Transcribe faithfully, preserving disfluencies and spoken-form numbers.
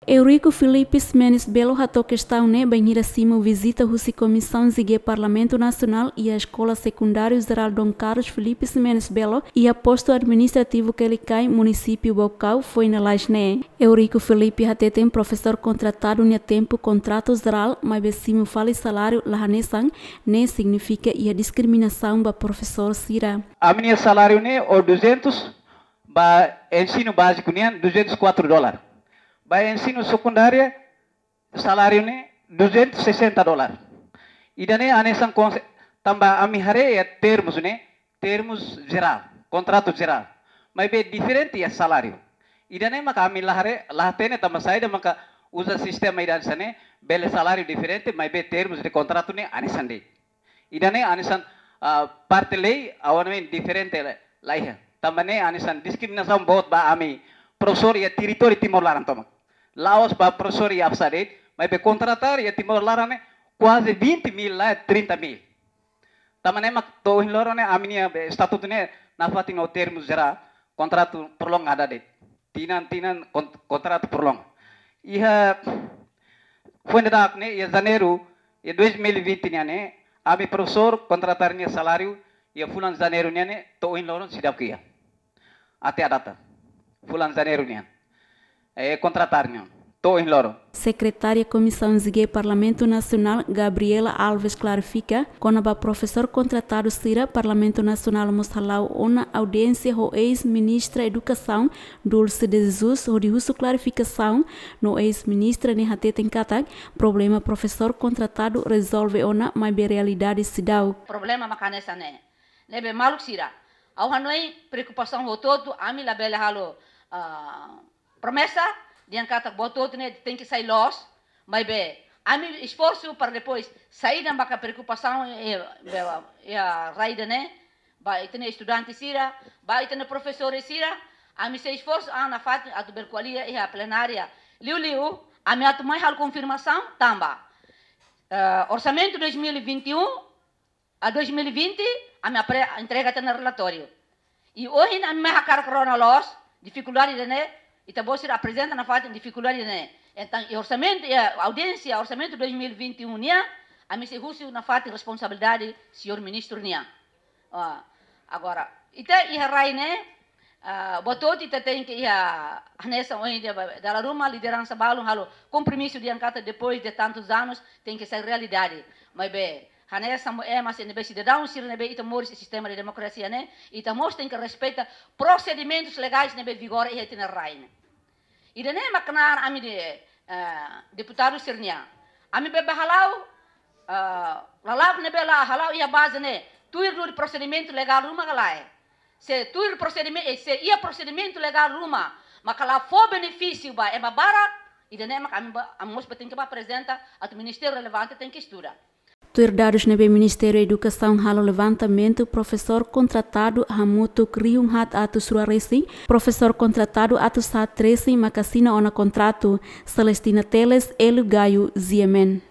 Eurico Filipe Ximenes Belo hato'o kestaun ne'e bainhira simu vizita husi Komisaun G Parlamentu Nasionál iha Eskola Sekundáriu Jerál Dom Carlos Filipe Ximenes Belo iha Postu Administrativu Quelicai, Munisípiu Baucau, foin lalais ne'e. Eurico Filipe hateten profesór kontratadu nia tempu kontratu jerál, maibé simu fali saláriu la hanesan, ne'e signifika iha diskriminasaun ba profesór sira. Ami-nia saláriu ne'e duzentos, ba ensinu báziku nian duzentos e quatro dólar. Ba ensinu sekundária, saláriu ne'e duzentos e sessenta dólar. Ida-ne'e hanesan konse-, tanba ami haree iha termus ne'e, termus jerál, kontratu jerál. Maibé diferente iha saláriu. Ida-ne'e maka ami la haree, la hatene tanba saida maka uza sistema ida hanesan ne'e, bele saláriu diferente, maibé termus de kontratu ne'e hanesan de'it. Ida-ne'e hanesan, ah, parte lei, ha'u hanoin diferente la, la iha. Tanba ne'e hanesan diskriminasaun boot ba ami profesór iha territóriu Timor laran tomak. La'ós ba profesór iha APSA de'it, maibé kontratar iha Timor laran ne'e kuaze vinte mil la trinta mil. Tanba ne'e mak to'o ohin loron ne'e ami-nia be estatutu ne'e nafatin ho termus jerál, kontratu prolongada de'it. Tinan, tinan kon-, kontratu prolonga. Iha foin daudauk ne'e, iha Janeiru, iha dois mil e vinte nian ne'e, ami profesór kontratar nia saláriu, iha fulan Janeiru nian ne'e, to'o ohin loron seidauk iha. Até a data. Fulan Janeiru nian. Eh, kontratar nian. To'o ohin loron. Sekretária Komisaun G Parlamentu Nasionál, Gabriela Alves, klarifika, kona-ba profesór kontratadu sira, Parlamentu Nasionál mós hala'o ona audiénsia ho eis-ministra Edukasaun, Dulce de Jesus, hodi husu klarifikasaun, no eis-ministra ne'e hateten katak, problema profesór kontratadu rezolve ona, maibé realidade seidauk. Problema maka hanesan ne'e. Ne'ebé maluk sira, ha'u hanoin preokupasaun hotu-hotu, ami labele halo, ah, promesa, dehan katak buat hotu ne'e tenke sai loos, maibé ami esforsu para depois saida maka preokupasaun, eh, be-, iha rai ida-ne'e, ba ita-nia estudante sira, ba ita-nia profesór sira, ami sei esforsu an nafatin atu bele ko'alia iha plenária. Liuliu, ami atu mai halo konfirmasaun tanba, eh, orsamentu dois mil e vinte e um a dois mil e vinte, ami apre-, entrega tiha ona relatóriu. I ohin ami mai hakarak rona loos, difikuldade ida-ne'e, ita-boot sira aprezenta nafatin difikuldade ida-ne'e. Entaun, iha orsamentu, iha audiénsia orsamentu dois mil e vinte e um nian, ami sei husu nafatin responsabilidade señór ministru nian. Ah, agora, ita iha rai ne'e, ah, buat hotu ita tenke iha hanesan ohin dehan ba, dala ruma lideransa balun halo kompromisu dehan katak depois de tantos anos tenke sai realidade. Maibé, hanesan mo ema sira ne'ebé sidadaun sira ne'ebé ita moris iha sistema de demokrasia ne'e, ita mós tenke respeita prosedimentus legais ne'ebé vigora iha ita-nia rai ne'e. Ida-ne'e mak knaar ami de, eh, deputadu sira-nian. Ami be bá hala'o, eh, lala'ok ne'ebé la hala'o iha baze ne'e, tuir duni prosedimentu legál ruma ka lae. Se tuir prosedime-, eh, se iha prosedimentu legál ruma, maka la fó benefísiu ba ema barak, ida-ne'e mak ami bá, ami mós bá tenke bá aprezenta atu ministériu relevante tenke estuda. Tuir dadus ne'ebé Ministériu Edukasaun halo levantamentu, profesór kontratadu hamutuk rihun haat atus rua resin, profesór kontratadu atus haat resin maka asina ona kontratu. Celestina Teles, Hélio Gaio, G M N.